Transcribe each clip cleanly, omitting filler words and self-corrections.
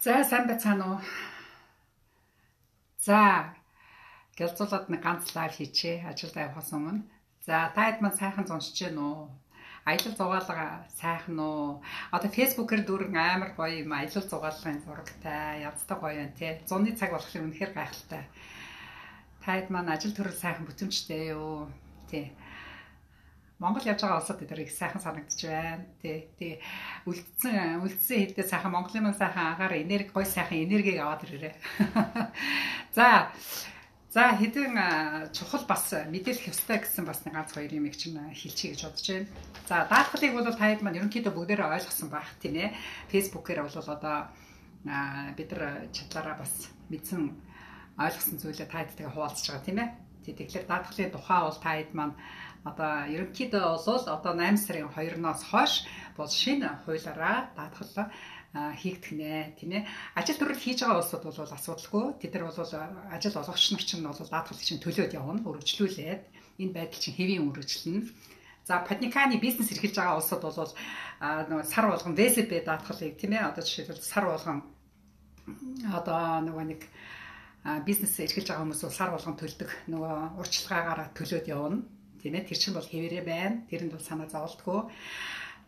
За сайн байцгаана уу? За гэлзуулаад нэг ганц лайв хийчихээ ажилд явахаас өмнө. За та хэд маань сайхан зуншиж гэнэ үү? Аялал зугаалга сайхан уу? Одоо фэйсбүүкээр дүүрэн амар гоё юм аялал зугаалгын зурагтай, янзтай гоё юм тий. Зуны цаг болохоор үнэхээр гайхалтай. Та хэд маань ажил төрөл сайхан бүтэмжтэй юу? Тий. Монгол явж байгаа улсад тэр их сайхан санагдчих байна. Тий. Үлдсэн хэдтэй сайхан Монголын маань сайхан агаар энерги гоё сайхан энергийг аваад ирээрээ. За хэдэн чухал бас мэдээлэх ёстой гэсэн бас нэг ганц хоёр юм чинь хэлчихье гэж бодож байна. За даатгалыг бол таад маань ерөнхийдөө бүгдээрээ ойлгосон байх тийм ээ. Фэйсбүүкээр бол одоо бид нар чадлаараа бас мэдсэн ойлгосон зүйлээ таадтайгаа хуваалцж байгаа тийм ээ. Тэгэхээр даатгалын тухай бол таад маань одоо ерөнхийдөө бол одоо 8 сарын 2-оос хойш бол шинэ хуулиараа даатгал хийгдэх нэ тийм ээ. Ажил төрөл хийж байгаа улсууд бол асуудалгүй. Тэд нар бол ажил олгогч нар чинь бол даатгалыг чинь төлөөд явна, өргөжлүүлээд энэ байдал чинь хэвийн өргөжлөн. За паниканы бизнес эрхэлж байгаа улсууд бол сар болгон ВСБ даатгалыг тийм ээ. Одоо жишээлбэл сар болгон одоо нэг бизнес эрхэлж байгаа хүмүүс бол сар болгон төлдөг нөгөө урьдчилгаагаараа төлөөд явна. Тийм ээ, тэр чинь бол хэвээрээ байна. Тэрэнд бол санаа зовлтгүй.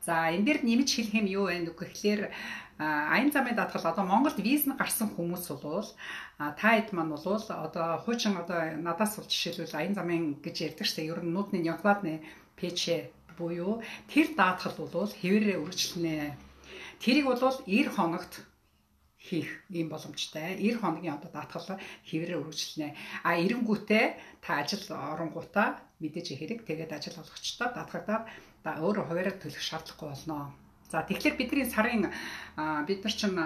За энэ дээр нэмж хэлэх юм юу вэ гэхээр аян замын даатгал одоо Монголд виз нь гарсан хүмүүс бол та хэд маань бол одоо хуучин одоо надаас бол жишээлбэл аян замын гэж ярьдаг штэ ер нь нүүдний Нёкладны пэчэ буюу тэр даатгал бол хэвээрээ үргэлжлэнэ. Тэрийг бол 90 хоногт хийх юм боломжтой. 90 хоногийн одоо даатгал хэвээрээ үргэлжлэнэ. Эренгүүтээ та ажил оронгуудаа мэдээж хэрэг тэгээд ажил олгогчдоо даатгагдаад өөрөө хуваараа төлөх шаардлагагүй болно. За тэгэхээр бидний сарын бид нар чинь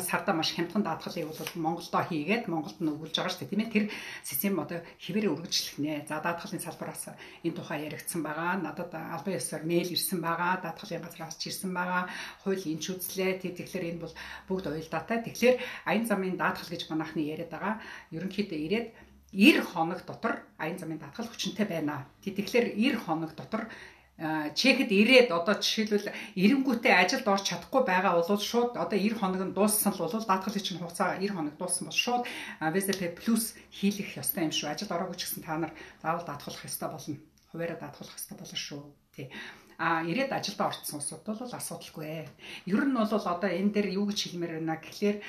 сарда маш хямдхан даатгалыг бол Монголдо хийгээд Монголд нь өгүүлж байгаа шүү дээ тийм ээ. Тэр систем одоо хэвээрээ үргэлжлэх нэ. За даатгалын салбараас энэ тухай яригдсан байгаа. Надад албан ёсоор мэйл ирсэн байгаа. Даатгалын газраас ч ирсэн байгаа. Хууль энэч үзлээ. Тэгэхээр энэ бол бүгд уялдаатай. Тэгэхээр аян замын даатгал гэж манайхны яриад байгаа. Ерөнхийдөө ирээд 90 хоног дотор аян замын даатгал хүчинтэй байна. Тэгэхээр 90 хоног дотор чехэд ирээд одоо жишээлбэл эренгүүтээ ажилд орж чадахгүй байгаа бол шууд одоо 90 хоног нь дууссан л бол даатгалын чинь хугацаа 90 хоног дууссан бол шууд ВЗП плюс хийлгэх ёстой юм шүү. Ажилд ороогүй ч гэсэн та нар заавал даатгалах ёстой болно. Хуваараа даатгалах ёстой болно шүү. Тий. Ирээд ажилд орцсон улсууд бол асуудалгүй. Ер нь бол одоо энэ дээр юу гэж хэлмээр байна гэхлээр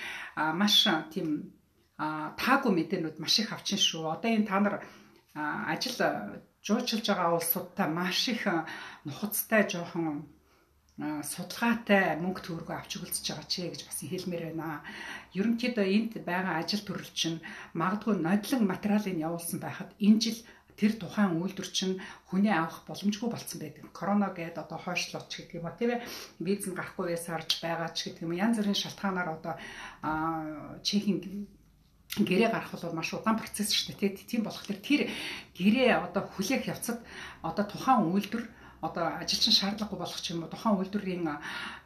маш тийм таагүй мэдээнүүд маш их авчин шүү. Одоо энэ та нар ажил жуулчилж байгаа улсуудтай маш их нухацтай жоохон судалгаатай мөнгө төгрөгөө авч өгөлцөж байгаа ч гэж бас хэлмээр байна. Ерөнхийдөө энд байгаа ажил төрөл чинь магадгүй нодлон материалыг явуулсан байхад энэ жил тэр тухайн үйлдвэр чинь хүний авах боломжгүй болсон байдаг. Корона гээд одоо хойшлооч гэдэг юм ба тийм ээ. Виз нь гарахгүй байсаарч байгаа ч гэдэг юм. Янз бүрийн шалтгаанаар одоо чехийн гэрээ гарах бол маш удаан процесс шүү дээ. Тийм болохоор тэр гэрээ одоо хүлээх явцад одоо тухайн үйлдвэр одоо ажилчин шаардлагагүй болох ч юм уу тухайн үйлдвэрийн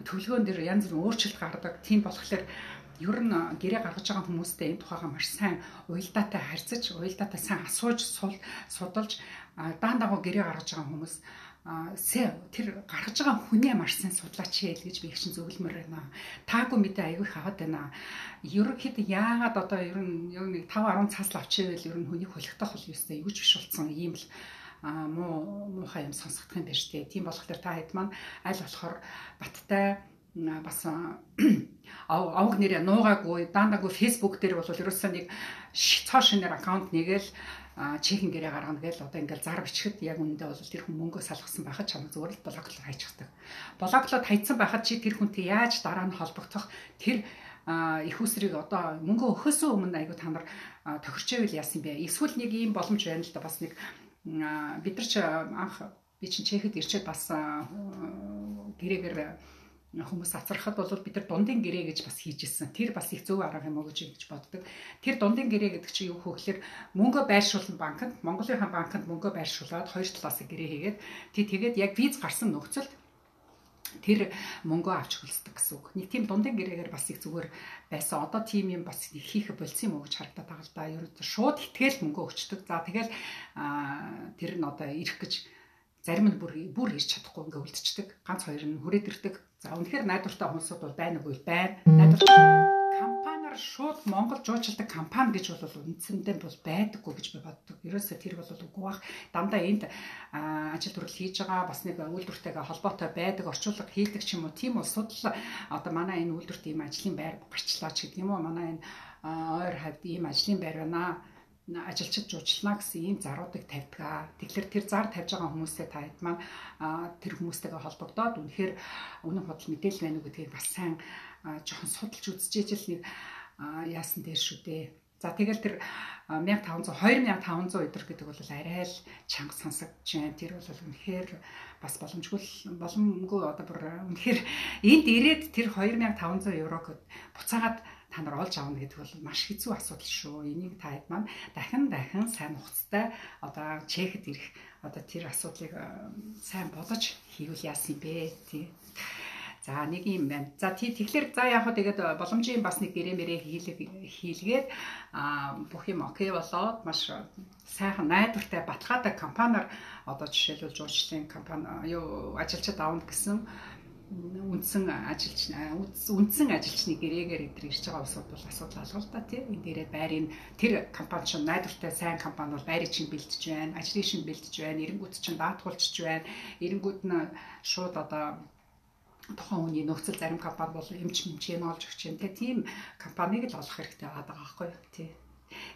төлөвлөгөөн дээр янз бүрийн өөрчлөлт гардаг. Тийм болохоор ер нь гэрээ гаргаж байгаа хүмүүстэй энэ тухайга маш сайн уялдаатай харьцаж, уялдаатай сайн асууж, судалж даан дагуу гэрээ гаргаж байгаа хүмүүс тэр гаргаж байгаа хүнээ маш сайн судлаач гэж би их чинь зөвлөмөр байна. Таагүй мэдээ аягүй их аваад байна. Ерөнхийдөө яагаад одоо ер нь нэг 5-10 цаас авчихвэл ер нь хүний хөлөгтөх бол юустай юу ч биш болсон ийм л муухай юм сонсогдох юм байна шүү дээ. Тийм болохоор та хэд маань аль болохоор баттай бас авг нэрээ нуугаагүй даандаагүй фэйсбүүк дээр бол ерөөсөө нэг цоо шинээр аккаунт нэгээл чехийн гэрээ гаргана гээл одоо ингээл зар бичгэд яг үнэндээ бол тэр хүн мөнгөө салгасан байхад чамд зүгээр л блоклоор хайчихдаг. Блоклоод хайцсан байхад чи тэр хүнтэй яаж дараа нь холбогдох тэр их усрыг одоо мөнгө өгөхөөсөө өмнө айгу та нар тохирчээвэл яасан бэ? Эсвэл нэг ийм боломж байна л да бас нэг бид нар ч анх би чинь чехэд ирчээд бас гэрээгээр хүмүүс ацрахад бол бид нар дундын гэрээ гэж бас хийжсэн. Тэр бас их зөв арга юм уу гэж боддог. Тэр дундын гэрээ гэдэг чинь юу хөөглөр мөнгө байршуулсан банкнд, Монголынхаа банкнд мөнгө байршуулад хоёр талаас гэрээ хийгээд тэгээд яг виз гарсан нөхцөлд тэр мөнгөө авч хөлсдөг гэсэн үг. Нэг тийм дундын гэрээгээр бас их зүгээр байсан. Одоо тийм юм бас хийх болсон юм уу гэж харагдаад байгаа л да. Ерөөд шууд итгэл мөнгөө өгчдөг. За тэгэл тэр нь одоо ирэх гэж зарим нь бүр ирж чадахгүй ингээ үлдчихдэг. Ганц хоёр нь хүрээд ирдэг. За үнэхээр найдвартай хүмүүсүүд бол байна уу байна. Найдвартай компаниар шууд Монгол жуулчилдаг компани гэж бол үндсэндээ бол байдаггүй гэж би боддог. Ерөөсөө тэр бол үгүй бах. Дандаа энд ажил төрөл хийж байгаа бас нэг үйлдвэртэйгээ холбоотой байдаг, орчуулга хийдэг ч юм уу. Тийм улсууд л одоо манай энэ үйлдвэрт ийм ажлын байр гарчлаа ч гэдэг юм уу. Манай энэ ойр хавьд ийм ажлын байр байна. Ажилчид жуулчлана гэсэн ийм заруудыг тавьдаг. Тэгэхээр тэр зар тавьж байгаа хүмүүстэй та хэд маань тэр хүмүүстэйгээ холбогдоод үнэхээр үнэн худал мэдээлэл байна уу гэдгийг бас сайн жоохон судалж үзчихэж л нэг яасан дээр шүү дээ. За тэгэл тэр 2500 өдөр гэдэг бол арай л чанга сонсогдож байна. Тэр бол үнэхээр бас боломжгүй одоо бүр үнэхээр энд ирээд тэр 2500 еврог буцаагаад та нар олж авна гэдэг бол маш хэцүү асуудал шүү. Энийг та хэд маань дахин сайн хугацтай одоо чехэд ирэх одоо тэр асуудлыг сайн бодож хийвэл яасан бэ тий. За нэг юм байна. За тэгэхээр за яг хөө тэгээд боломжийн бас нэг гэрээ хийлгээд бүх юм окей болоод маш сайхан найдвартай баталгаатай компаниар одоо жишээлбэл жуулчлалын компани юу ажилчид аавна гэсэн үндсэн ажилчны гэрээгээр идэр ирж байгаа улсууд бол асуудал алга л да тий. Энэ дээрээ байрын тэр компани чинь найдвартай сайн компани бол байрыг чинь бэлдэж байна, ажлыг чинь бэлдэж байна, эренгүүд чинь даатгуулж байна. Эренгүүд нь шууд одоо тухайн хүний нөхцөл зарим компани бол эмч олж өгч юм. Тийм компанийг л олох хэрэгтэй байгаа байхгүй юу тий.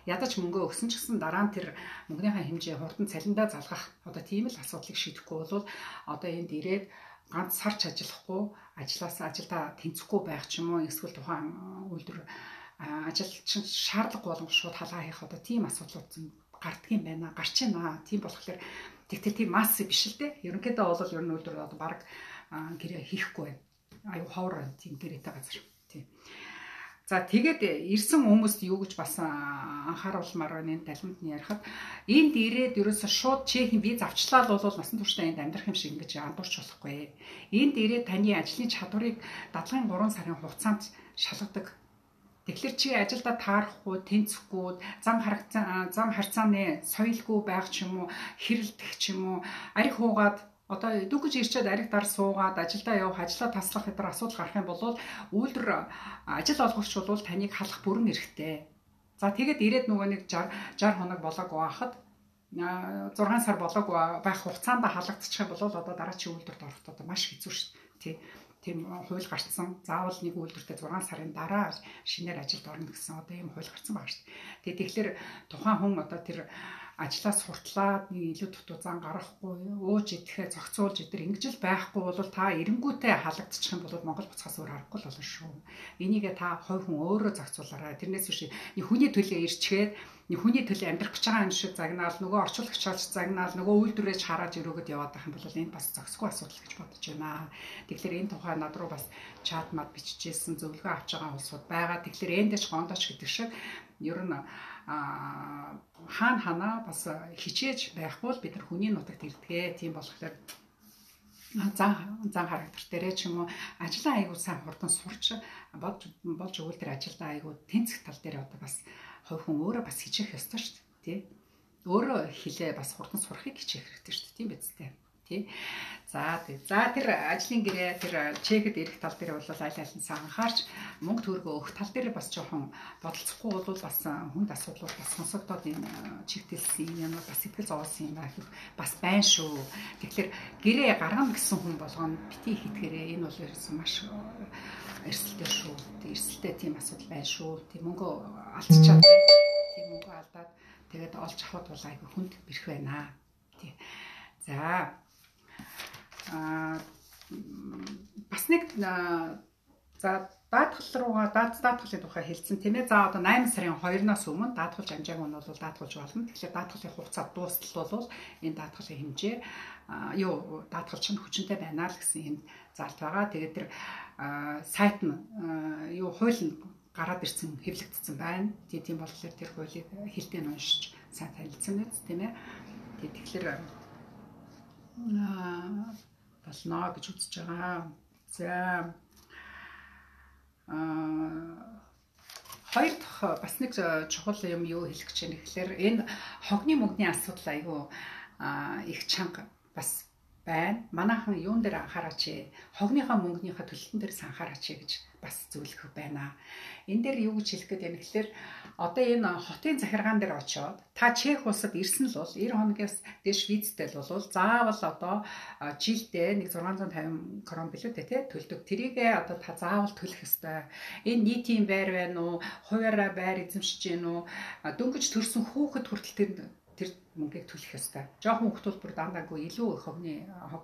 Ядаж мөнгөө өгсөн ч гэсэн дараа нь тэр мөнгөнийхөө хэмжээ хурдан цалиндаа залгах одоо тийм л асуудлыг шийдэхгүй бол одоо энд ирээд ганц сарч ажиллахгүй ажилдаа тэнцэхгүй байх ч юм уу эсвэл тухайн үйлдвэр ажилчин шаардлагагүй болгон шууд халаа хийх одоо тийм асуудлууд гардаг юм байна. Гарч байна. Тийм болохоор тийм масс биш л дээ. Ерөнхийдөө бол ер нь үйлдвэр одоо баг гэрээ хийхгүй байна. Аюу ховор байна тийм гэрээтэй газар. Тийм. За тэгээд ирсэн хүмүүст юу гэж бас анхааруулмаар байна энэ далимд нь ярихад энд ирээд ерөөсө шууд чехийн виз авчлаа бол насан туршдаа энд амьдрах юм шиг ингэж андуурч болохгүй. Энд ирээд таны ажлын чадварыг дадлын 3 сарын хугацаанд шалгадаг. Тэгэхээр чи ажилдаа таарахгүй, тэнцэхгүй, зам харьцааны соёлгүй байх ч юм уу, хэрэлдэх ч юм уу, арх хуугаад одоо дүүгэж ирчээд арх дар суугаад ажилдаа явах, ажлаа таслах гэдэр асуудал гарах юм бол үйлдвэр ажил олгогч бол таныг халах бүрэн эрхтэй. За тэгээд ирээд нөгөө нэг 60 хоног болоогүй байхад 6 сар болоогүй байх хугацаанд халагдчих юм бол одоо дараачийн үйлдвэрт ороход одоо маш хэцүү шүү дээ. Тийм хууль гарцсан. Заавал нэг үйлдвэртээ 6 сарын дараа шинээр ажилд орно гэсэн одоо ийм хууль гарцсан байгаа шүү дээ. Тэгэхээр тухайн хүн одоо тэр ажлаа суртлаад нэг илүү дутуу зан гарахгүй ууж идэхээ зохицуулж идэр ингэж л байхгүй бол та эренгүүтээ халагдчих юм бол Монгол буцахаас өөр аргагүй л болно шүү. Энийгээ та хувь хүн өөрөө зохицуулаарай. Тэрнээс биш нэг хүний төлөө ирчгээд нэг хүний төлөө амьдрах гэж байгаа юм шиг загнаал нөгөө орчуулагчаач загнаал нөгөө үйлдвэрээс хараад өрөөгд яваад байх юм бол энэ бас зохисгүй асуудал гэж бодож байна. Тэгэхээр энэ тухай над руу бас чат мад бичижсэн зөвлөгөө авч байгаа улсууд байгаа. Тэгэхээр эндэж гондооч гэдэг шиг ер нь хаана бас хичээж байхгүй л бид нар хүний нутагт ирдгээ. Тийм болохоор зан характер дээрээ ч юм уу ажлаа айгуу сайн хурдан сурч болж өгвөл тэр ажилдаа айгуу тэнцэх тал дээр одоо бас хувь хүн өөрөө бас хичээх ёстой шүү дээ. Тий. Өөрөө хэлээ бас хурдан сурахыг хичээх хэрэгтэй шүү дээ. Тийм биз дээ. Тий. За тэр ажлын гэрээ тэр чехэд ирэх тал дээр бол аль алинсаа анхаарч мөнгө төгрөгөө өгөх тал дээр бас жоохон бодолцохгүй бол бас хүнд асуудлууд бас сонсогдоод энэ чигтэлсэн юм бас сэтгэл зовоосон юм бас байна шүү. Тэгэхээр гэрээ гаргана гэсэн хүн болгоно бити хийдгээрээ энэ бол ерөөсөн маш эрсдэлтэй шүү. Тэг эрсдэлтэй тийм асуудал байна шүү. Тэг мөнгө алдчихад тийм мөнгө алдаад тэгээд олж авах бол айгүй хүнд бэрх байна. Тий. За бас нэг за даатгалын тухай хэлсэн тийм ээ. За одоо 8 сарын 2-наас өмнө даатгалж амжааг нь бол даатгалж болно. Тэгэхээр даатгалын хугацаа дуустал бол энэ даатгалын хэмжээ даатгал чинь хүчинтэй байна л гэсэн энэ залт байгаа. Тэгээд тэр сайт нь хууль нь гараад ирсэн хэвлэгдсэн байна. Тийм болохоор тэр хуулийг хэлтэй нь уншиж сайн танилцсан биз тийм ээ. Тэгэхээр болно гэж үзэж байгаа. За хоёр дахь бас нэг чухал юм юу хэлэх гэж байна гэхээр энэ хогны мөнгөний асуудал айгүй их чанга бас байна. Манайхан юун дээр анхаараач. Хогныхоо мөнгөнийхөө төлөлтөн дээр анхаараач гэж бас зөвлөх байна. Энэ дээр юу гэж хэлэх гээд байна гэхээр одоо энэ хотын захиргаан дээр очиод та Чех улсад ирсэн л бол 90 хоногоос дээш визтэй л бол заавал одоо жилдээ нэг 650 крон билүү те төлдөг. Тэрийгээ одоо та заавал төлөх ёстой. Энэ нийтийн байр байна уу? Хуваараа байр эзэмшиж гин үү? Дөнгөж төрсэн хүүхэд хүртэл тэр мөнгийг төлөх ёстой. Жохон хүүхдүүд бүр дандаагүй илүү хог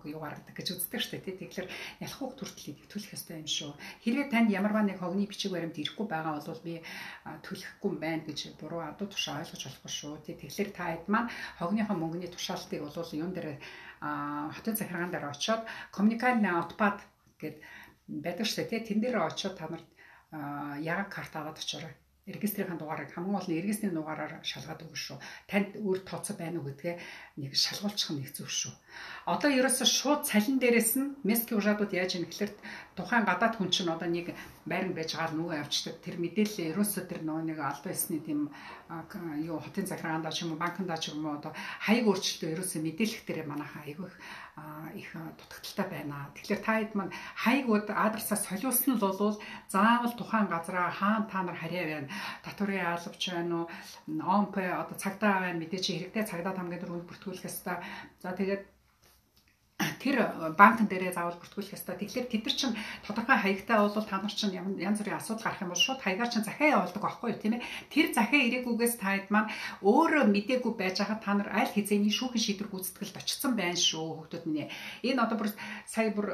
юу гаргадаг гэж үздэг шүү дээ. Тэгэхээр ялах хүүхд хүртэл төлөх ёстой юм шүү. Хэрвээ танд ямарваа нэг хогны бичиг баримт ирэхгүй байгаа бол би төлөхгүй юм байна гэж буруу адуу тушаа ойлгож болохгүй шүү. Тэгэхээр та хэд маань хогныхоо мөнгөний тушаалтыг бол юун дээр хотын захиргаан дээр очиод коммуникальны отпад гэд байдаг шүү дээ. Тэн дээр очиод та нарт яг карт аваад очоорой. Регистрийн дугаарыг хамгийн гол нь регистрийн дугаараар шалгаад өгнө шүү. Танд өөр тооцоо байна уу гэдгээ нэг шалгуулчих нь их зөв шүү. Одоо ерөөсө шууд цалин дээрээс нь мескийн ужаадууд яаж юм гэхэлэр тухайн гадаад хүн чинь одоо нэг байран байж байгаа нөгөө явчихдаг. Тэр мэдээлэл ерөөсө тэр нөгөө нэг албан ёсны тийм юу хотын захиргаандаа ч юм уу банкндаа ч юм уу одоо хаяг өөрчлөлтөө ерөөсө мэдээлэх дээр манайхаа айгүй их дутагдaltaй байна. Тэгэхээр та хэд маань хаягуд адресаа солиулсан нь бол заавал тухайн газараа хаана та нар харьяа байна. Татварын албач байна уу? ОМП одоо цагдаа байна. Мэдээж хэрэгтэй цагдаа хамгийн дөрөв бүртгүүлэх ёстой. За тэгээд тэр банкн дээрээ заавал бүртгүүлэх ёстой. Тэгэхээр тэд нар чинь тодорхой хаягтай бол та нар чинь янз бүрийн асуудал гарах юм бол шууд хаягаар чинь захиа явуулдаг байхгүй юу тийм ээ. Тэр захиа ирээгүйгээс та хэд маань өөрөө мдээгүй байж байгаа та нар аль хэзээний шүүхэн шийдвэр гүйцэтгэлд очсон байна шүү хүүхдүүд минь. Энэ одоо бүр сая бүр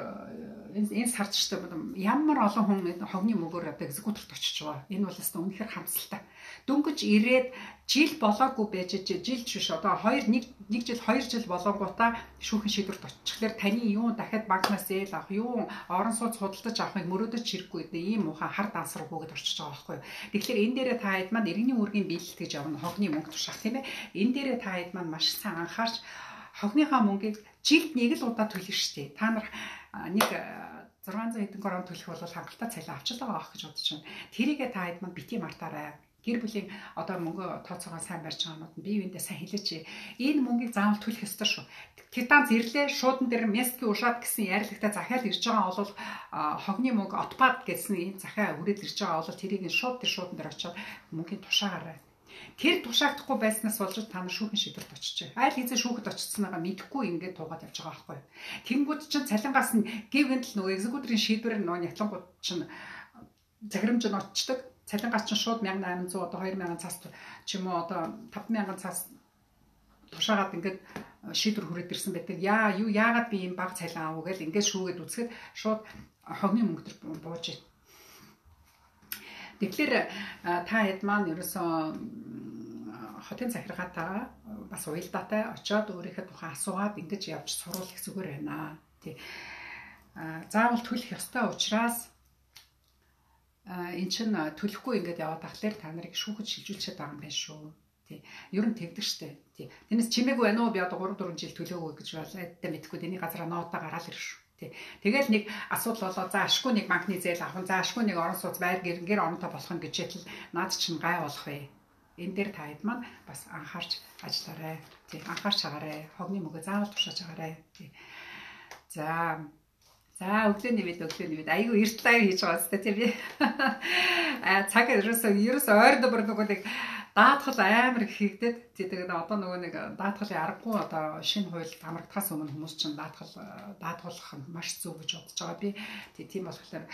энэ сард ч гэсэн ямар олон хүн хогны мөгөөр одоо экзекуторт очиж байгаа. Энэ бол өстой үнэхээр хамсалтай. Дөнгөж ирээд жил болоогүй байж жил биш одоо 1 жил 2 жил болонгуудаа шүүхэн шийдвэрт очихлаар таны юу дахиад банкнаас зээл авах юу орон сууц худалдаж авахыг мөрөөдөж хэрэггүй гэдэг ийм ухаан хар дансраггүйгээд орчиж байгаа байхгүй юу. Тэгэхээр энэ дээрээ та хэд маань иргэний үүргийн биелэлт гэж явна хогны мөнгө тушаах тийм ээ. Энэ дээрээ та хэд маань маш сайн анхаарч хогныхаа мөнгийг жилд нэг л удаа төлнө шүү дээ. Та нар нэг 600 хэдэн крон төлөх бол хангалттай цалин авч л байгаа гэж бодож байна. Тэрийгээ та хэд маань бити мартаарай. Гэр бүлийн одоо мөнгө тооцоогоо сайн барьж байгаанууд нь бие биендээ сайн хэлээч. Энэ мөнгийг заавал төлөх ёстой шүү. Титан зэрлээ шуудан дээр мескийн ушаад гэсэн ярилагтай захиал ирж байгаа бол хогны мөнгө отпад гэсэн энэ захиа үрээд ирж байгаа бол тэрийг шууд тэр шуудан дээр очиод мөнгөний тушаагаарай. Тэр тушаагдахгүй байснаас болж та нар шүүхэн шийдвэрт очиж. Айл хэзээ шүүхэд очицсныгаа мэдэхгүй ингээд туугаад явж байгаа байхгүй. Тэнгүүд чинь цалингаас нь гэвэнт л нөгөө экзекуторын шийдвэр нөгөө нятлангууд чинь захирамж нь очдог. Цалингаас чинь шууд 1800 одоо 2000 цаас ч юм уу одоо 5000 цаас тушаагаад ингээд шийдвэр хүрээд ирсэн байдаг. Яагаад би ийм бага цалин аав гэж ингээд шүүгээд үзэхэд шууд хогны мөнгө төр бууж ий. Тэгэхээр та хэд маань ерөөсөө хотын захиргаатаа бас уялдаатай очиод өөрийнхөө тухайн асуугаад ингэж явж суруулах зүгээр байна. Тий. Заавал төлөх ёстой учраас эн чин төлөхгүй ингээд яваад тахлаар та нарыг шүүхэд шилжүүлчихэд байгаа юм байна шүү. Тий. Ер нь тэгдэг штэ. Тий. Тэрнээс чимээгүй байна уу би одоо 3 4 жил төлөөгүй гэж бол айдтай мэдхгүй тэний газараа ноотоо гараал ирэх шүү. Тий. Тэгэл нэг асуудал болоо за ашгүй нэг банкны зээл авах, за ашгүй нэг орон сууц байр гэр оронтой болох нь гэжэл наад чинь гай болох вэ. Энэ дээр та хэд маань бас анхаарч ажиллаарай. Тий. Анхаарч чагаарай. Хогны мөгөө заавал тушааж чагаарай. Тий. За өглөөний мэд айгүй эрт лайв хийж байгаа зү тийм би. Цаг ерөөсөө ойрд бүр нөгөө нэг даатгал амар хийгдээд тэгээд одоо нөгөө нэг даатгалын аргагүй одоо шинэ хууль хамрагдахаас өмнө хүмүүс чинь даатгуулах нь маш зөв гэж бодож байгаа би. Тийм болохоор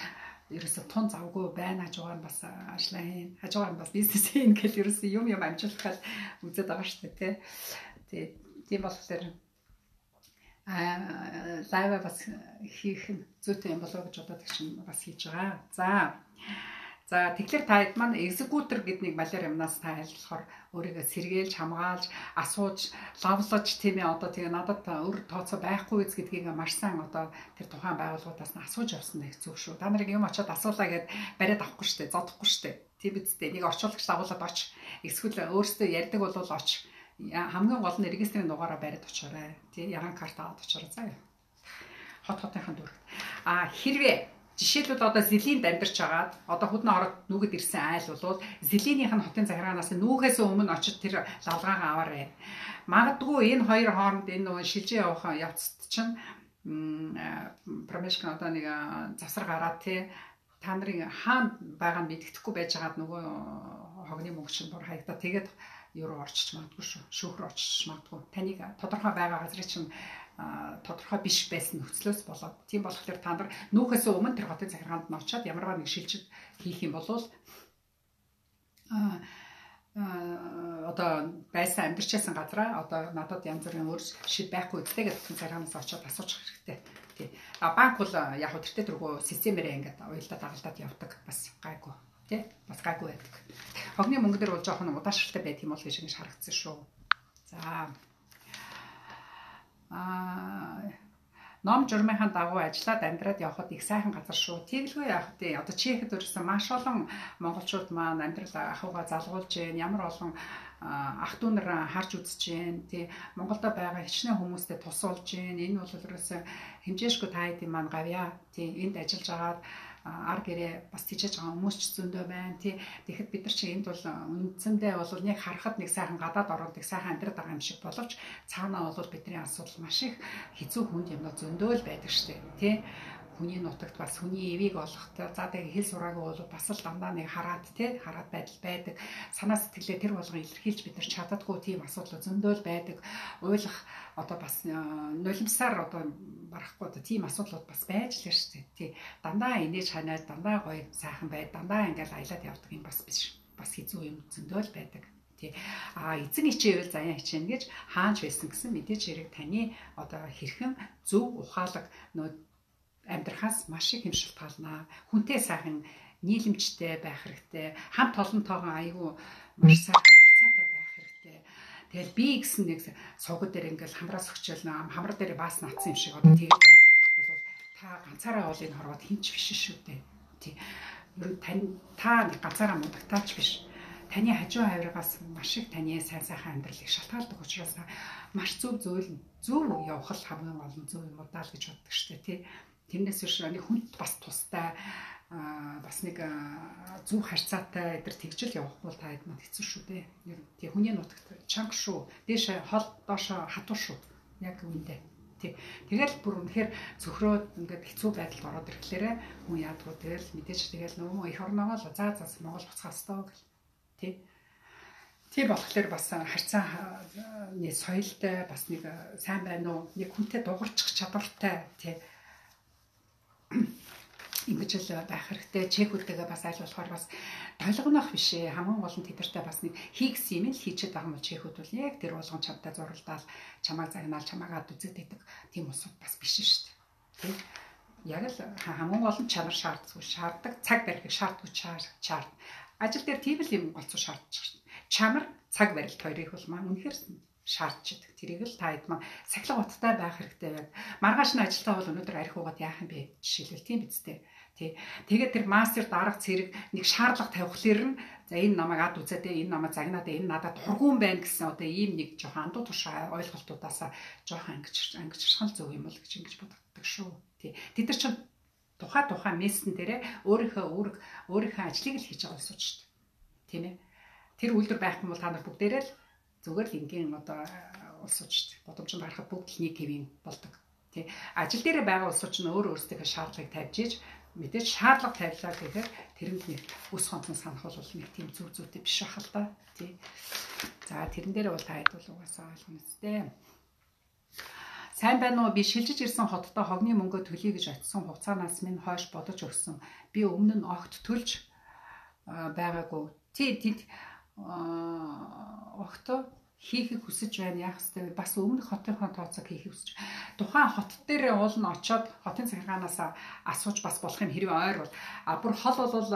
ерөөсөө тун завгүй байна хажуугаар нь бас ажиллаа хийн. Хажуугаар нь бас бизнес хийн гэл ерөөсөө юм амжуулахад үзээд байгаа шүү дээ тий. Тийм болохоор лайв бас хийх зүйтэй юм болоо гэж бодоод чинь бас хийж байгаа. За тэгэхээр та хэд маань экзекутор гэдэг нэг малиар юмнаас та айлтлахаар өөрийгөө сэргээлж хамгаалж асууж лавлаж тийм ээ одоо тэгээ надад өөр тооцоо байхгүй үз гэдгийг маш сайн одоо тэр тухайн байгууллагуудаас нь асууж явсан нэг зөв шүү. Та нарыг юм очиод асуулаа гэд бариад авахгүй штэ, зодохгүй штэ. Тийм үстэй нэг орчуулагч дагуулад оч. Эсвэл өөрөөсөө ярьдаг бол оч. Хамгийн гол нь регистрийн дугаараа бариад очоорой. Тий ягаан карт аваад очоорой заа. Хотынхаа дүрэг. Хэрвээ жишээлбэл одоо зэлийн дамжирч агаад одоо хүдэн ороод нүгэд ирсэн айл бол зэлийнийх нь хотын захиргаанаас нүүхээс өмнө очиж тэр лавлгаагаа аваарай. Магадгүй энэ хоёр хооронд энэ нөгөө шилжээ явах явцад чинь промешкн одоо нэг завсар гараад тий та нарын хаана байгаа нь мэддэхгүй байж байгаад нөгөө хогны мөнгө чинь бүр хаягдаа тэгээд юу орчиж магадгүй шүү. Шүүхрээ орчиж магадгүй. Таныг тодорхой байгаа газрын чинь тодорхой биш байсан нөхцлөөс болоод тийм болохоор та нар нүүхээс өмнө тэр хотын захиргаанд нь очиод ямарваа нэг шилжиж хийх юм бол одоо байсан амьдарчсан газараа одоо надад янз бүрийн өөр шид байхгүй үстэй гэж хотын захиргаанаас очиод асууж хэрэгтэй. Тий. Банк бол яг хөө тэртээ тэргүй системээрээ ингээд уялдаа дагалдаад явдаг бас гайгүй. Тий. Бас гайгүй байдаг. Хогны мөнгө дээр бол жоохон удаашралтай байт юм бол гэж ингэж харагдсан шүү. За. Ном журмынхаа дагуу ажиллаад амьдраад явхад их сайхан газар шүү. Тэгэлгүй явах тий. Одоо Чехэд өрсөн маш олон монголчууд маань амьдрал ахуйгаа залгуулж гин ямар олон ах дүү нар харж үзэж гин тий. Монголда байгаа хичнээн хүмүүстэй тусуулж гин. Энэ бол ерөөсөө хэмжээшгүй та хэдийн маань гавья тий. Энд ажиллаж агаад ар гэрээ бас тийжэж байгаа хүмүүс ч зөндөө байна тий. Тэгэхэд бид нар чи энд бол үндсэндээ бол нэг харахад нэг сайхан гадаад ороод нэг сайхан амьдраад байгаа юм шиг боловч цаанаа бол бидний асуудал маш их хэцүү хүнд юмнууд зөндөө л байдаг штеп тий. Хүний нутагт бас хүний эвийг олохтой за тэгээ хэл сураагүй бол бас л дандаа нэг хараад тий хараад байдал байдаг. Санаа сэтгэлээ тэр болгон илэрхийлж бид нар чаддаггүй тийм асуудал зөндөө л байдаг. Ойлгох одоо бас нулимсаар одоо барахгүй одоо тийм асуудлууд бас байж л штеп тий. Дандаа инээж ханаад дандаа гоё сайхан бай дандаа ингээл аялаад явдаг юм бас биш. Бас хэцүү юм зөндөө л байдаг. Эзэн хичээвэл заяа хичээнэ гэж хаанч байсан гэсэн мэдээж хэрэг таны одоо хэрхэн зөв ухаалаг нөө амьдрахаас маш их юм шалтгаална. Хүнтэй сайхан нийлэмжтэй байх хэрэгтэй. Хамт олонтойгоо айгүй маш сайхан харьцаатай байх хэрэгтэй. Тэгэл би гэсэн нэг сувгад дээр ингээл хамраас өгчөөл хамар дээр баас наацсан юм шиг одоо тэгээд бол та ганцаараа ол энэ хорвоод хинч биш шүү дээ. Тий. Ер нь та ганцаараа муудагтаач биш. Таны хажуу хаврагаас маш их таны сайн сайхан амьдралыг шалтгаалдаг учраас маш зөв явах л хамгийн гол нь зөв юм уу даа л гэж боддог штэ тий. Тэрнээс биш нэг хүнд бас тустай бас нэг зөв харьцаатай эдэр тэгжил явах бол та хэд манд хэцүү шүү дээ. Ер нь тий хүний нутагт чанга шүү. Дээш хол доошо хатуу шүү. Яг үүндээ. Тий. Тэгэл бүр үнэхээр цөхрөөд ингээд хэцүү байдалд ороод ирэхлээрэ хүн яадгүй тэгэл мэдээж тэгэл нөгөө их орногоо л за Монгол буцхаас тоо гэл. Тий болохоор бас харьцааны соёлтой бас нэг сайн байна уу нэг хүнтэй дуурчих чадвартай тий ингэж л байх хэрэгтэй чекүүдтэйгээ бас аль болохоор бас толгонох биш ээ хамгийн гол нь тэдэртэй бас нэг хийгс юм л хийчихэд байгаа юм бол чекүүд бол яг тэр болгон чамтай зуралдаал чамаа загнаал чамаагаад үзээд идэг тийм усуд бас биш шүү дээ тий яг л хамгийн гол нь чанар шаарддаг цаг барихыг шаардгүй чарт ажил дээр тийм л юм голцоо шаардчих шин. Чамар цаг барилт хоёрыг бол маань үнэхээр шаардчихдаг. Тэрийг л та хэд маань сахилга уттай байх хэрэгтэй яг. Маргааш нь ажилтаа бол өнөөдөр арх угаад яах юм бэ? Жишээлбэл тийм биз дээ. Тий. Тэгээд тэр мастер дарга цэрэг нэг шаардлага тавихлаар нь за энэ намайг ад үзээд энэ намайг загнаад энэ надад тургуун байна гэсэн одоо ийм нэг жоохон андуу туршаа ойлголтуудаасаа жоохон ангижрах л зөв юм бол гэж ингэж боддог шүү. Тий. Тэд нар чинь тухайн мессен дээрээ өөрийнхөө ажлыг л хийж байгаа улсууд шүү дээ. Тийм ээ. Тэр үйлдвэр байхгүй бол та нар бүгдээрээ л зүгээр л ингийн одоо улсууд шүү дээ. Бодомжинд харахад бүгд л нэг хэвийн болдог. Тий. Ажил дээрээ байгаа улсууд нь өөрсдөө шаардлагыг тавьж ийж мэдээж шаардлага тавилаа гэхээр тэрэнд нэг өс хонцон санах бол нэг тийм зүйтэй биш ах л да. Тий. За тэрэн дээр бол та хэд бол угаасаа ойлгоно үстэй. Сайн байна уу? Би шилжиж ирсэн хоттой хогны мөнгө төлье гэж очисон хугацаанаас минь хойш бодож өгсөн. Би өмнө нь огт төлж байгаагүй. Тэд огт хийхийг хүсэж байна. Яах вэ? Бас өмнөх хотынхоо тооцоог хийхийг хүсэж. Тухайн хот дээр уул нь очиод хотын захиргаанаас асууж бас болох юм хэрвээ ойр бол. Бүр хол бол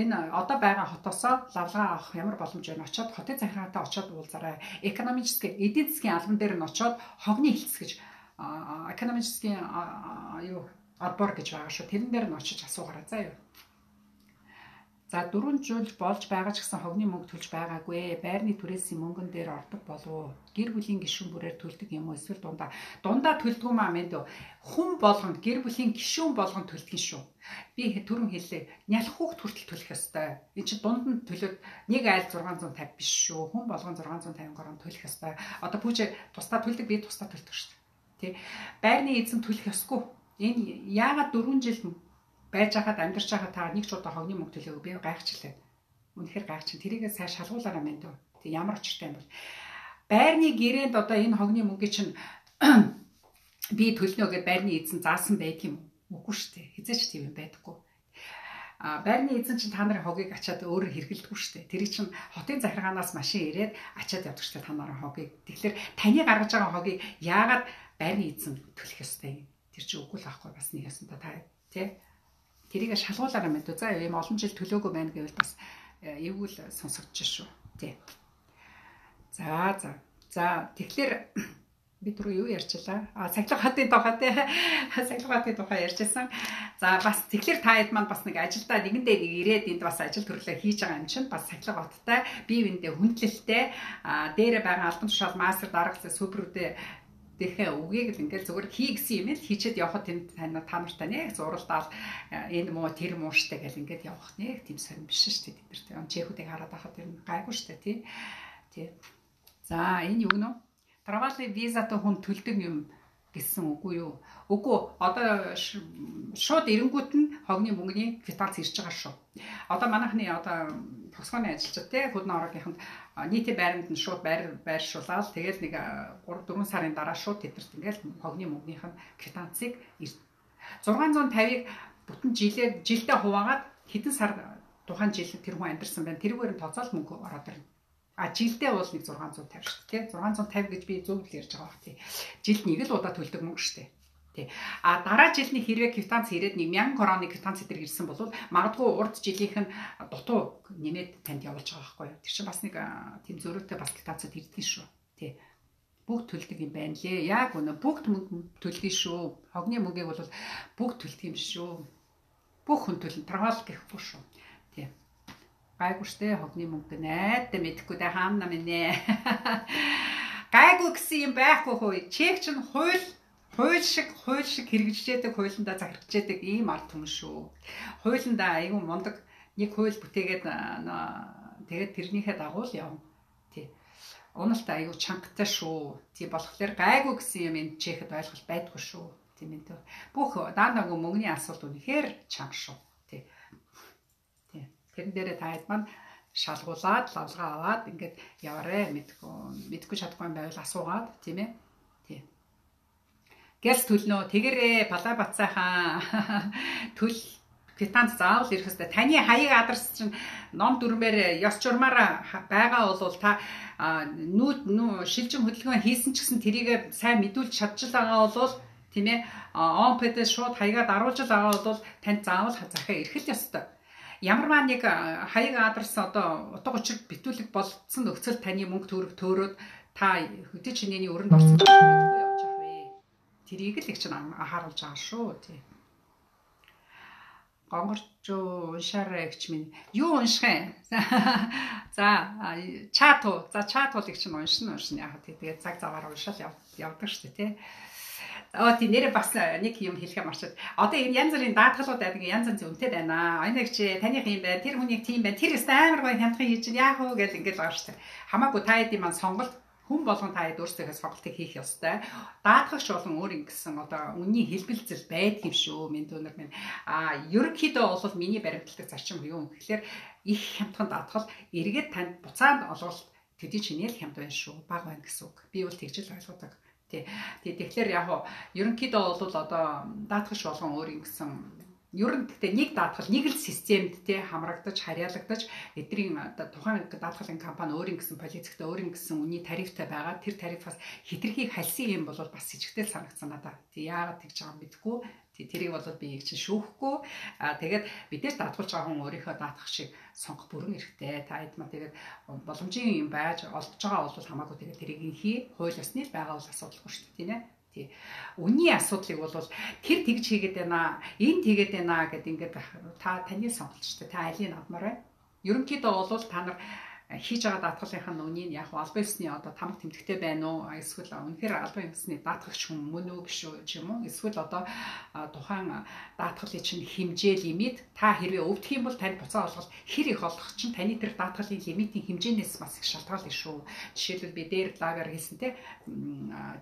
энэ одоо байгаа хотоосоо лавлага авах ямар боломж байна? Очиод хотын захиргаантай очиод уулзаарай. Экономический эдийн засгийн албан дээр нь очиод хогны хэлц гэж экономический отбор гэж байгаа шүү. Тэрэн дээр нь очиж асуугаарай заа юу. За 4 жил болж байгаа ч гэсэн хогны мөнгө төлж байгаагүй. Байрны түрээсийн мөнгөн дээр ордог болов. Гэр бүлийн гишүүн бүрээр төлдөг юм уу? Эсвэл дундаа төлдөг юм аа мэд. Хүн болгонд гэр бүлийн гишүүн болгонд төлдөг шүү. Би түрүүн хэллээ. Нялх хүүхд хүртэл төлөх ёстой. Энэ чинь дунд нь төлөөд нэг айл 650 биш шүү. Хүн болгон 650 гаруй төлөх ёстой. Одоо пүүж тусдаа төлдөг би тусдаа төлдөг шүү. Тэ байрны эзэн төлөх ёсгүй. Энэ яагаад 4 жил байж хахад амьдарч хахад та нэг ч удаа хогны мөнгө төлөөгүй би гайхчихлаа. Үнэхээр гайхчих. Тэрийгээ сайн шалгуулаарай мэн дөө. Тэг ямар очиртай юм бол байрны гэрээнд одоо энэ хогны мөнгөийг чинь би төлнө гэдээ байрны эзэн заасан байдаг юм уу? Үгүй шүү дээ. Хизээч тийм юм байдаггүй. Байрны эзэн чинь та нарын хогийг ачаад өөрөөр хэргэлдэггүй шүү дээ. Тэр чинь хотын захиргаанаас машин ирээд ачаад явдаг шүү дээ та нарын хогийг. Тэгэхээр таны гаргаж байгаа хогийг яагаад байрны эзэн төлөх ёстой юм? Тэр чинь үгүй л байхгүй бас нэг ясан та тий. Тэрийг шалгуулаарай мэдв. За ийм олон жил төлөөгүй байна гэвэл бас эвгүй л сонсогдож шүү. Тий. За тэгэхээр би түрүү юу ярьчлаа? Сахилга хотын тухай тий. Сахилга хотын тухай ярьжсэн. За бас тэгэхээр та хэд маань бас нэг ажилдаа нэгэндээ нэг ирээд энд бас ажил төрлөө хийж байгаа юм чинь бас сахилга хоттой бие биендээ хүндлэлтэй дээрээ байгаа албан тушаал мастер даргалцаа суперүүдээ тэгэхээр үгийг л ингээл зүгээр хий гэсэн юм л хийчээд явхад тэнд та нартай нэг зуралдаал энэ муу тэр муу штэ гэл ингээд явах нэг тийм сонир биш штэ тэд нар тийм чехүүдийг хараад байхад тэр гайгүй штэ тий. За энэ юу гэнэ? Travel visa-тай хүн төлдөг юм гэсэн үгүй юу? Үгүй. Одоо шууд эренгүүт нь хогны мөнгөний квитанц ирж байгаа шүү. Одоо манайхны одоо тогсгооны ажилчид те Хөдөн орогийнханд нийтийн байранд нь шууд байршуулаад тэгэл нэг 3-4 сарын дараа шууд тэдэрт ингээл хогны мөнгөнийх нь квитанцыг 650-ыг бүтэн жилдээ хуваагаад хэдэн сар тухайн жил тэр хүн амьдарсан байна. Тэрүүгээр нь тооцоол мөнгө ороод ирнэ. Жилдээ бол нэг 650 шүү дээ. 650 гэж би зөв л ярьж байгаа бах тий. Жилд нэг л удаа төлдөг мөнгө шүү дээ. Тий. Дараа жилийн хэрвээ квитанц ирээд 1000 короны квитанц эдэр ирсэн бол магадгүй урд жилийнх нь дутуу нэмээд танд явуулж байгаа байхгүй юу. Тэр чинь бас нэг тийм зөрүүтэй бас квитанцад ирдэг шүү. Тий. Бүгд төлдөг юм байна лээ. Яг үнэ бүгд мөнгө төлдөг шүү. Хогны мөнгийг бол бүгд төлдөг юм шүү. Бүх хүн төлнө. Travel гэхгүй шүү. Тий. Гайгүй штэ хогны мөнгө найдаа мэдэхгүй дэ хаана минь. Гайгүй гэсэн юм байхгүй хөөе. Чек чинь хууль шиг хэрэгжижээдэг, хуулиндаа захирагчээдэг ийм ард түмэн шүү. Хуулиндаа айгүй мундаг нэг хууль бүтээгээд тэгээд тэрнийхээ дагуу л явна. Тий. Уналтай айгүй чангаттай шүү. Тий болохоор гайгүй гэсэн юм энэ чехэд ойлголт байдгүй шүү. Тийм ээ. Бүх даанаагүй мөнгөний асуудал үнэхээр чанга шүү. Тий. Тэрэн дээрээ та хэд маань шалгуулад, лавлгаа аваад ингээд яваарэ мэдгүй чадахгүй юм байвал асуугаад тийм ээ. Тий. Гэс төлнө. Тэгэрээ Балай Бацайхан төл квитанц заавал ирэх хэвээр. Таны хаяг адрес чинь ном дүрмээр ёс журмаар байгаа бол та шилжин хөдөлгөөн хийсэн ч гэсэн тэрийг сайн мэдүүлж чадчих байгаа бол тийм ээ. Он пэдэ шууд хаягаад аруулж байгаа бол танд заавал захиа ирэх л ёстой. Ямарваа нэг хаяг адрес одоо утга учир битүүлэг болцсон нөхцөл таны мөнгө төгрөг төөрөөд та хөдөө чинээний өрөнд орсон гэж мэдгүй явж байгаа вэ. Тэрийг л их чинь анхааруулж байгаа шүү тий. Гонгорч уншаарай гэж минь. Юу унших юм? За чат уу их чинь уншина яагаад тэгээд цаг заваар уншаал явдаг шүү тий. Тийм нэрээ бас нэг юм хэлэхээ марчаад. Одоо энэ янз бүрийн даатгалууд байдаг янз янз үнэтэй байна. Оногч таних юм байна. Тэр хүний тийм байна. Тэр өст амар гоё хямдхан хийж яах вэ гэж ингэж байгаа шүү дээ. Хамаагүй та хэдийн маань сонголт хүн болгон та хэд өөрсдөө сонголтыг хийх ёстой. Даатгагч болон өөр ингэсэн одоо үнний хэлбэлцэл байдаг юм шүү. Минь дүүнер минь. Ерөнхийдөө бол миний баримтлагдаг зарчим юу гэхээр их хямдхан даатгал эргээд танд буцаанд олголт төдий чинээ л хямд байна шүү. Бага байна гэсэн үг. Би бол тэгж л ойлгодог. Тэгэхээр яг ерөнхийдөө бол одоо даатгагч болгон өөр ингэсэн ер нь гэхдээ нэг даатгал нэг л системд хамрагдаж харьяалагдаж эдний тухайн даатгалын компани өөр ингэсэн полицейтэй өөр ингэсэн үнийн тарифтай байгаа. Тэр тарифаас хэтэрхийг хальсан юм бол бас с ิจ гтэл санагдсан надад. Яагаад тэгж байгаа юм мэдгүй. Тэрийг бол би чинь шүүхгүй. Тэгээд мэдээж даатгуулж байгаа хүн өөрийнхөө даатгагчийг сонгох бүрэн эрхтэй. Та эдмаа тэгээд боломжийн юм байж олдож байгаа бол хамаагүй тэгээд тэрийг хий. Хууль ёсны л байгаа бол асуудалгүй шүү дээ, тийм ээ. Үнийн асуудлыг бол тэр тэгж хийгээд байна, энэ тэгээд байна гэд ингээд таны сонголт шүү дээ. Та алийг авмаар байна. Ерөнхийдөө бол та нар хийж байгаа даатгалынхаа нүуний яг албан ёсны одоо тамга тэмдэгтэй байна уу? Эсвэл үнэхээр албан ёсны даатгагч хүн мөн үү гэж юм уу? Эсвэл одоо тухайн даатгалын чинь хэмжээ лимит та хэрвээ өвдөх юм бол танд буцаа олголт хэр их олох чинь таны тэр даатгалын лимитийн хэмжээнээс бас их шалтгаална шүү. Жишээлбэл би дээр лагаар хэлсэнтэй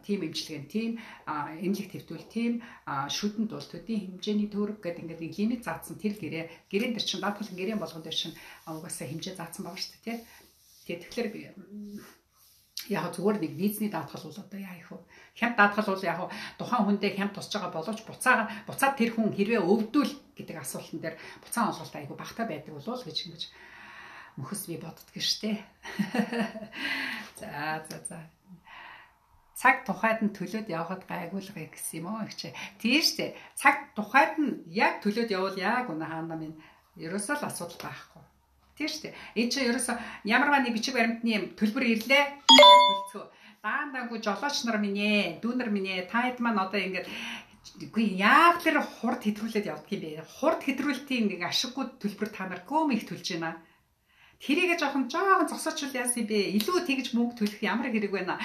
тим эмчилгээний тим эмнэлэг твтүүл тим шүдэнд бол төдийн хэмжээний төгрөг гэдэг ингээд лимит заасан тэр гэрэн дээр чинь даатгалын гэрэн болгон дээр чинь угаасаа хэмжээ заасан байгаа шүү дээ. Тэгэхээр би яг зүгээр нэг визний даатгал бол одоо яа их вэ? Хямд даатгал бол яг тухайн хүндээ хямд тусч байгаа боловч буцаад тэр хүн хэрвээ өвдвөл гэдэг асуултан дээр буцаан олголт айгүй багтаа байдаг болов гэж ингэж мөхөс би боддгоо штэ. За. Цаг тухайд нь төлөөд явхад гайгуулгыг гэсэн юм уу их чи. Тийм штэ. Цаг тухайд нь яг төлөөд явбал яг үнэ хаана минь ерөөсөө л асуудал байхгүй. Тийм шүү дээ. Энэ чинь ерөөсөө ямарваа нэг бичиг баримтны төлбөр ирлээ. Төлцөө. Даандангүй жолооч нар минь ээ, дүүнер минь ээ, та хэд маань одоо ингээд үгүй яах тэр хурд хэтрүүлээд явдаг юм бэ? Хурд хэтрүүлтийн нэг ашиггүй төлбөр та нар гөөм их төлж байна. Тэрийгэ жоохон зогсоочвол яасан бэ? Илүү тэгж мөнгө төлөх ямар хэрэг байна?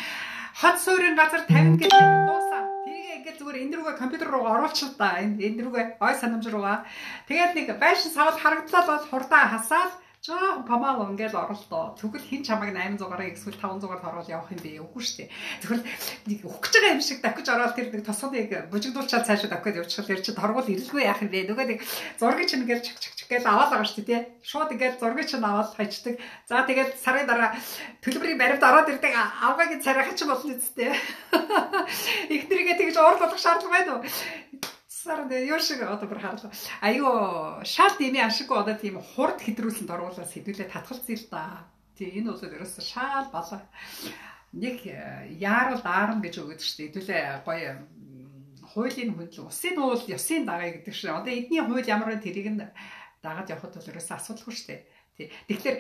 Хот суурин газар 50 гэж дуусаа. Тэрийгэ ингээд зүгээр энэ рүүгээ компьютер руу оруулчихлаа да. Энэ рүүгээ ой санамж руугаа. Тэгээд нэг байшин савд харагдлаа бол хурдаа хасаад жоо памал ингээд оролтоо. Тэгвэл хин чамайг 800-аар эсвэл 500-аар оруулаад явах юм бэ? Үгүй шүү дээ. Тэгвэл нэг ухаж байгаа юм шиг давхиж ороод тэр нэг тосгоныг бужигдуулчаад цаашаа давхиж явчихвал тэр чинь торгуул ирэлгүй яах юм бэ? Нөгөө нэг зургийг чинь ингээд чик гэж аваад байгаа шүү дээ. Шууд ингээд зургийг чинь аваад хайчдаг. За тэгээд сарын дараа төлбөрийн баримт ороод ирдэг авгагийн царайхан ч болно үстэй. Ихнэрийгээ тэгж уур болох шаардлага байна уу? Сард юу шиг одоо бүр харлаа. Айгүй шал дэмий ашиггүй одоо тийм хурд хэдрүүлсэнд оруулаад сэдвүүлээ татгалцъя л да. Тийм энэ бол ерөөсөө шал балаа. Нэг яарал даарна гэж өгöd шүү дээ. Хэдүүлээ гоё хуулийн хөндлөн усын уул ёсын дагая гэдэг шиг. Одоо эдний хууль ямар вэ тэрийг нь дагаад явхад бол ерөөсөө асуудалгүй шүү дээ. Тий. Тэгэхээр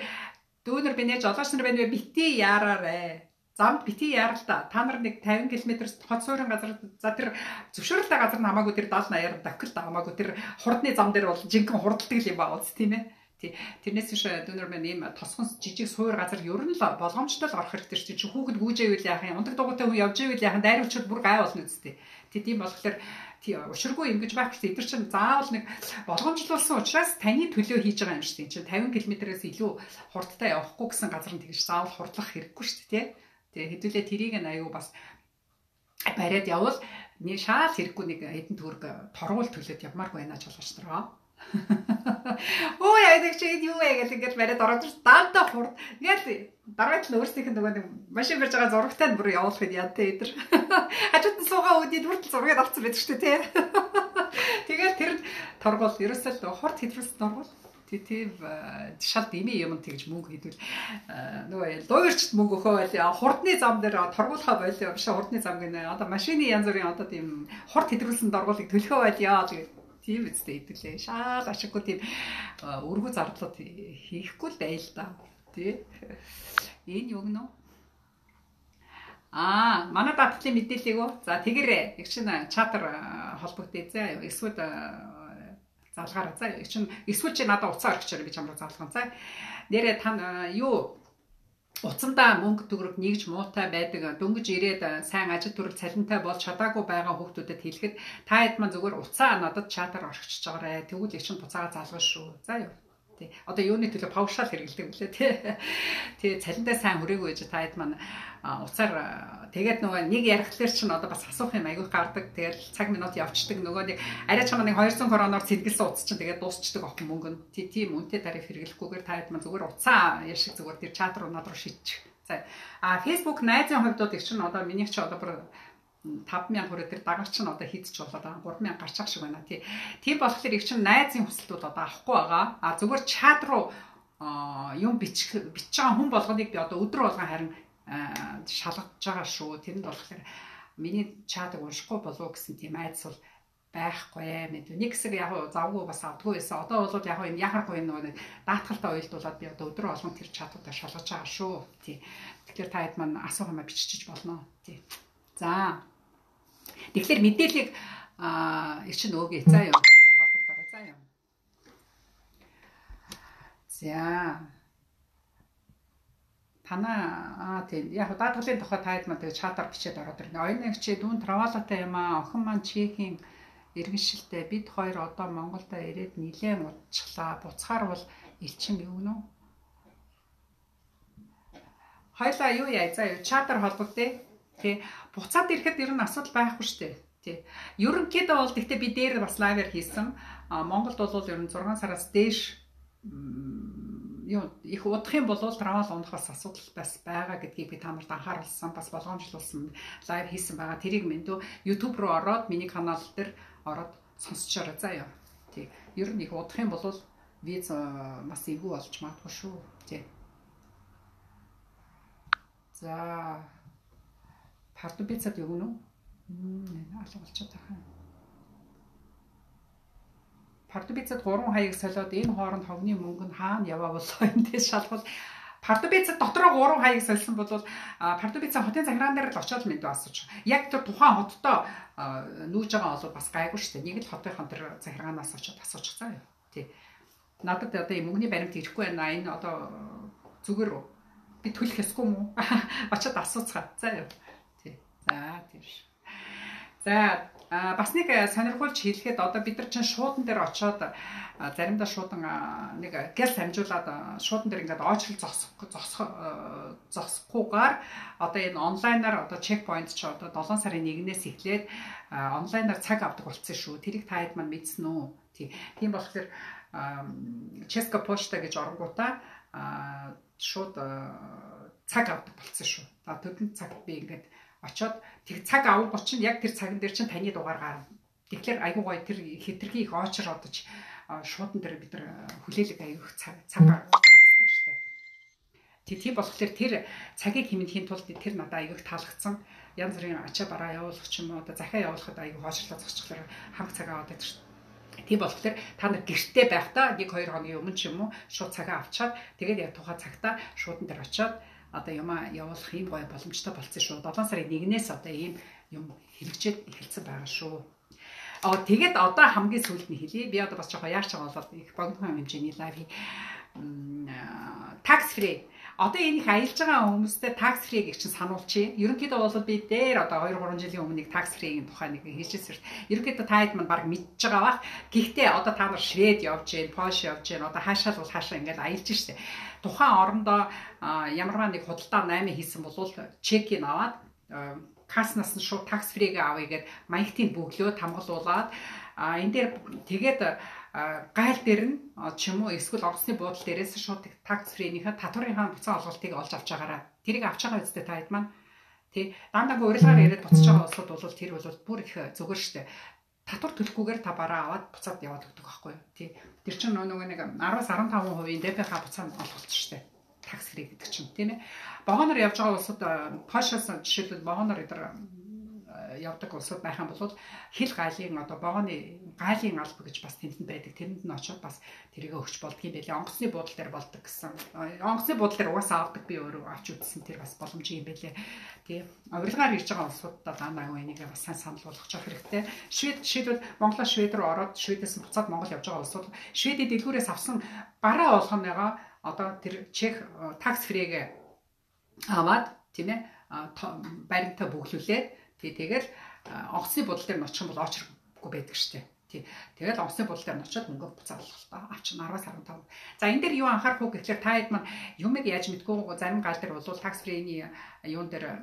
дүүнер бинэ жолооч нар байна вэ? Бити яараарэ. Замд бити яаралта. Та нар нэг 50 км хот суурин газар за тэр зөвшөөрөлтэй газар нь хамаагүй тэр 70 80 давхил хамаагүй тэр хурдны зам дээр бол жинхэнэ хурддаг юм байна үст тийм ээ. Тий. Тэрнээс биш дүүнер маань ийм тосгон жижиг суур газар ер нь л болгоомжтой л орох хэрэгтэй шүү. Чи хүүхэд гүйжээвэл яах юм? Ундаг дугуйтай хүн явж ивэл яах? Дайруулчид бүр гай болно үстэй. Тийм болохоор тий уширгүй юм гэж байхгүй шүү. Эдгээр чинь заавал нэг болгоомжлуулсан учраас таны төлөө хийж байгаа юм шүү. Чинь 50 км-ээс илүү хурдтай явахгүй гэсэн газар нь тэгж заавал хурдлах хэрэггүй шүү дээ. Тэгээ хэдүүлээ тэрийг аюу бас бариад явал нэг шаал хэрэггүй нэг хэдэн төгрөг торгуул төлөөд явмааргүй байна жолооч нараа. Оо яа гэдэг чи юу вэ гэдэг ингэж бариад ороод даантаа хурд. Ингээд дараагийн өөрсдийнх нь нөгөө нэг машин барьж байгаа зурагтай нь бүр явуулах юм яа тэ эдэр. Хажууд нь суугаа үдид хүртэл зургийг авцсан байдаг шүү дээ тий. Тэгээд тэр торгуул ерөөсөө хурд хэдрүүлсэн торгуул. Тийм шал дэмий юм тэгж мөнгө хийдвэл нөгөө луурчд мөнгө өгөө байл хурдны зам дээр торгуулахаа байл биш хурдны зам гэнэ одоо машины янз бүрийн одоо тийм хурд хэдрүүлсэн торгуулыг төлөхөө байл яа тийм үстэй хэдүүлээ шал ашиггүй тийм өргөө зардлууд хийхгүй л байл да тий энэ юу гэнэ манай даатгалын мэдээллийг за тэгэрээ их чинь чатар холбогдъё заа эсвэл залгаараа за чинь эсвэл чи надад уцаа орчихорой би чамруу залгана за нэрээ та юу уцандаа мөнгө төгрөг нэгж муутай байдаг дөнгөж ирээд сайн ажил төрөл цалинтай болж чадаагүй байгаа хүүхдүүдэд хэлэхэд та хэд маань зүгээр уцаа надад чатар орчихж байгаарэ тэгвэл их чинь буцаага залгана шүү за юу тий одоо юуны төлөө паушаал хэрэгэлдэг үлээ тий цалинтай сайн хүрээгүй гэж та хэд маань уцаар тэгээд нөгөө нэг ярихлаар чинь одоо бас асуух юм аягүй гардаг. Тэгээд цаг минут явцдаг нөгөө нэг арай чамаа нэг 200 короноор цэдгэлсэн утас чинь тэгээд дуусчдаг охин мөнгө нь тийм үнэтэй тариф хэрэглэхгүйгээр та хэд маань зүгээр уцаа яшиг зүгээр тэр чат руу над руу шийдчих. За Facebook найзын хувьд их чинь одоо минийх чи одоо бүр 5000 хүрээ тэр дагалч нь одоо хийдэж болоод байгаа 3000 гарчих шиг байна тий. Тийм болохоор их чинь найзын хүсэлтүүд одоо авахгүй байгаа. Зүгээр чат руу юм бичих байгаа хүн болгоныг би одоо өдөр болгон харин шалгаж байгаа шүү. Тэрэнд болохоор миний чатыг уншихгүй болов гэсэн тийм айдас бол байхгүй мэд. Нэг хэсэг яг завгүй бас авдгүй байсан. Одоо бол яг энэ яхахгүй нэг даатгалтай уялдуулаад би одоо өдрөө болгон тэр чатуудаа шалгаж байгаа шүү. Тий. Тэгэхээр та хэд маань асуух юмаа бичиж болно. Тий. За. Тэгэхээр мэдээллийг чинь өгье. За юу. Холбогдоо за юу. За. танаа тийм яг даатгалын тухай таад маань тэгээ чатаар бичээд ороод ирнэ. Оюуны чи дүүн травалатай юм аа. Охин маань чехийн иргэншилтэй бид хоёр одоо Монголдо ирээд нилээн удчихлаа. Буцахаар бол элчин өгнө үү? Хоёлаа юу яа за чатаар холбогдъё. Тий. Буцаад ирэхэд ер нь асуудал байхгүй шүү дээ. Тий. Ерөнхийдөө бол гэхдээ би дээр бас лайвер хийсэн. Монголд бол ер нь 6 сараас дээш юу их удах юм бол травал унах бас асуудал бас байгаа гэдгийг би та нарт анхааруулсан, бас болгоомжлуулсан лайв хийсэн байгаа. Тэрийг мэндүү YouTube руу ороод миний канал дээр ороод сонсчоорой заяа. Тий. Ер нь их удах юм бол виз бас эвгүй болж магадгүй шүү. Тий. За Пардубицад өгнө үү? Алга болчиход байгаа. Пардубицад 3 хаяг солиод энэ хооронд хогны мөнгө нь хаана яваа болоо эндээс шалгал. Пардубицад дотроо 3 хаяг сольсон бол Пардубицад хотын захиргаан дээр л очиод мэд асууж. Яг тэр тухайн хоттой нүүж байгаа бол бас гайгүй шүү дээ. Нэг л хотынхан тэр захиргаанаас очиод асуучих заа юу. Тий. Надад одоо юм мөнгөний баримт ирэхгүй байна. Энэ одоо зүгээр би төлөх ёсгүй мүү? Очиод асууцгаа. За юу. Тий. За тийм ш. За бас нэг сонирхолж хэлэхэд одоо бид нар чинь шуудан дээр очиод заримдаа шуудан нэг гэл хамжуулаад шуудан дээр ингээд очрол зогсохгүйгээр одоо энэ онлайнаар одоо чекпоинт ч одоо 7 сарын 1-ээс эхлээд онлайнаар цаг авдаг болсон шүү. Тэрийг та хэд маань мэдсэн үү? Тийм болохоор Ческа почта гэж оронгуудаа шууд цаг авдаг болсон шүү. Төдөн цагт би ингээд очоод тэг цаг авах чинь яг тэр цаган дээр чинь таны дугаар гарна. Тэгэхээр айгуу гоё тэр хэтэрхий их очор одож шуудан дээр бид нар хүлээлэг аяг цаг гаргадаг штеп. Тийм болохоор тэр цагийг хэмнэхийн тулд тэр надад аяг таалагдсан. Янз бүрийн ачаа бараа явуулах ч юм уу одоо захиа явуулахад аяг хоошлоо зогсчихлоо хамт цагаа аваад байдаг шүү. Тийм болохоор та нар гэртээ байхдаа 1-2 хоногийн өмнө ч юм уу шууд цагаа авчаад тэгээд яг тухайн цагтаа шуудан дээр очиод одоо юм явуулах юм гоё боломжтой болсон шүү. 7 сарын 1-ээс одоо ийм юм хэрэгжээд эхэлсэн байгаа шүү. Тэгээд одоо хамгийн сүүлд нь хэлье. Би одоо бас жоохон яарч байгаа болоод их богино хэмжээний лайв tax free. Одоо энэ их аялж байгаа хүмүүстээ tax free гэж чинь сануулчих. Ерөнхийдөө бол би дээр одоо 2-3 жилийн өмнө нэг tax free-ийн тухай нэг хийжсэн. Ерөнхийдөө та хэд маань баг мэдж байгаа бах. Гэхдээ одоо та нар Швед явж гин, Польш явж гин, одоо хаашаа л хаашаа ингээд аялж штэ. Тухайн орондоо ямарваа нэг худалдаа 8 хийсэн бол чекийг аваад каснаас нь шууд tax free-гээ авъя гэд маягтыг бөглөөд хамгаалуулаад энэ дээр тэгээд гайл дээр нь ч юм уу эсвэл орсны буудлын дээрээс шууд tax free-ийнхээ татварынхаа буцаа олголтыг олж авч байгаараа. Тэрийг авч байгаа үстэй та хэд маань тий дандаа урилгаар яриад буцаж байгаа улсууд бол тэр бол бүр их зүгээр штэ. Татвар төлөхгүйгээр та бараа аваад буцаад яваад өгдөг байхгүй юу тий. Тэр чинь нөгөө нэг 10-15% ДПХ буцаа олголт штэ. Tax free гэдэг чинь тийм ээ. Вагоноор явж байгаа улсууд Польшаас жишээлбэл вагоноор өдр явдаг улсууд байх юм бол хил галийн одоо вагоны галийн алба гэж бас тэнд байдаг. Тэрэнд нь очиод бас тэрийг өгч болдго юм байлээ. Онгоцны буудлын дээр болдог гэсэн. Онгоцны буудлын дээр угаасаа авдаг би өөрөө авч үзсэн тэр бас боломж юм байлээ. Тийм. Урилгаар ирж байгаа улсуудаа дандаа энийг бас сайн санал болгочих хэрэгтэй. Швед жишээлбэл Монголоос Швед рүү ороод Шведээс буцаад Монгол явж байгаа улсууд Шведийн дэлгүүрээс авсан бараа болгоныгоо одоо тэр чек tax free-гээ аваад тийм ээ баримтаа бүглүүлээд тэгэл онгоцны буудлын дээр нь очих юм бол очроггүй байдаг штеп. Тэгэл онгоцны буудлын дээр нь очиод мөнгө буцаа олголтоо авчин 10-15. За энэ дээр юу анхаарах уу гэхээр та хэд маань юмыг яаж мэдгүй зарим гал дээр бол tax free-ний юун дээр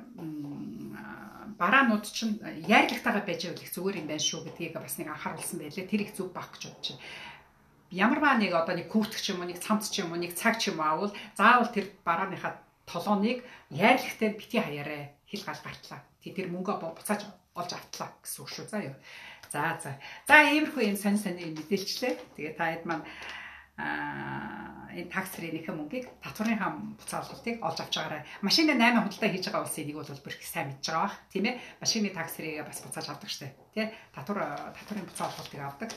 бараанууд чинь яарлагтайгаа байж байвал их зүгээр юм байна шүү гэдгийг бас нэг анхааруулсан байлээ. Тэр их зүг баг гэж бодож байна. Ямарваа нэг одоо нэг күртг ч юм уу, нэг цамц ч юм уу, нэг цаг ч юм аавал заавал тэр барааныхаа толгоныг яарлагтай бити хаяарэ хил гал гартлаа. Тэр мөнгө буцааж олж автлаа гэсэн үг шүү. За юу. За иймэрхүү юм сонь мэдээлчлээ. Тэгээ та хэд маань энэ tax free-ийнхээ мөнгийг татварынхаа буцаа олголтыг олж авч байгаарай. Машины 8 худалдаа хийж байгаа улсын нэг бол бүр их сайн мэдж байгаа бах. Тийм ээ. Машины tax free-гээ бас буцааж авдаг штэ. Тэ татварын буцаа олголтыг авдаг.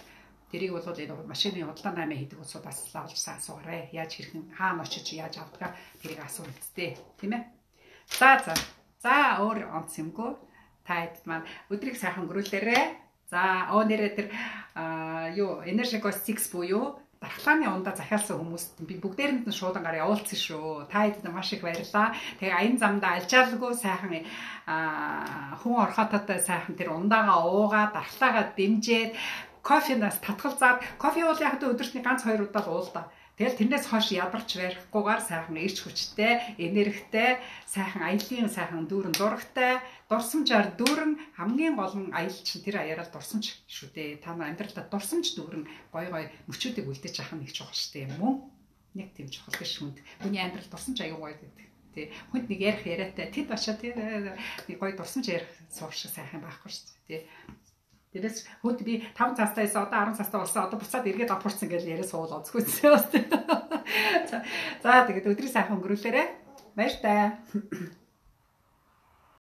Тэрийг бол энэ машины худалдаа 8 хийдэг улсуудаас олж асуугаарай. Яаж хэрхэн хаана очиж яаж авдгаа тэрийг асуу үсттэй. Тийм ээ. За өөр онц юмгүй. Та хэд маань өдрийг сайхан өнгөрүүлээрэй. За нэрээ тэр юу Energy Go 6 буюу дархлааны ундаа захиалсан хүмүүст би бүгдээрэнд нь шуудан гараа явуулсан шүү. Та хэдэд маш их баярлалаа. Тэгээ аян замдаа альчаалгүй сайхан хүн орхототой сайхан тэр ундаагаа уугаа, дархлаагаа дэмжээд кофенаас татгалзаад кофе уул яг өдөртний ганц 2 удаа л уул да. Тэгэл тэрнээс хойш ядарч барихгүйгээр сайхан эрч хүчтэй, энергитэй, сайхан аялын сайхан дүүрэн зурагтай, дурсамжаар дүүрэн хамгийн гол нь аялал чинь тэр аяараа дурсамж шүү дээ. Та нар амьдралдаа дурсамж дүүрэн гой мөчүүдийг үлдээж авах нь их чухал шүү дээ. Мөн нэг тийм чухал гэж хүнд. Хүний амьдрал дурсамж аягүй гоё гэдэг. Тэ хүнд нэг ярих яриатай тэд бачаа тэр нэг гоё дурсамж ярих суух шиг сайхан байхгүй шүү дээ. Тэрээс хөөд би 5 цаастаа эсвэл одоо 10 цаастаа болсон одоо буцаад эргээд апурцсан гэж яриа суул онцгүйсэн. За тэгээд өдрийн сайхан өнгөрүүлээрэ. Баяр таа.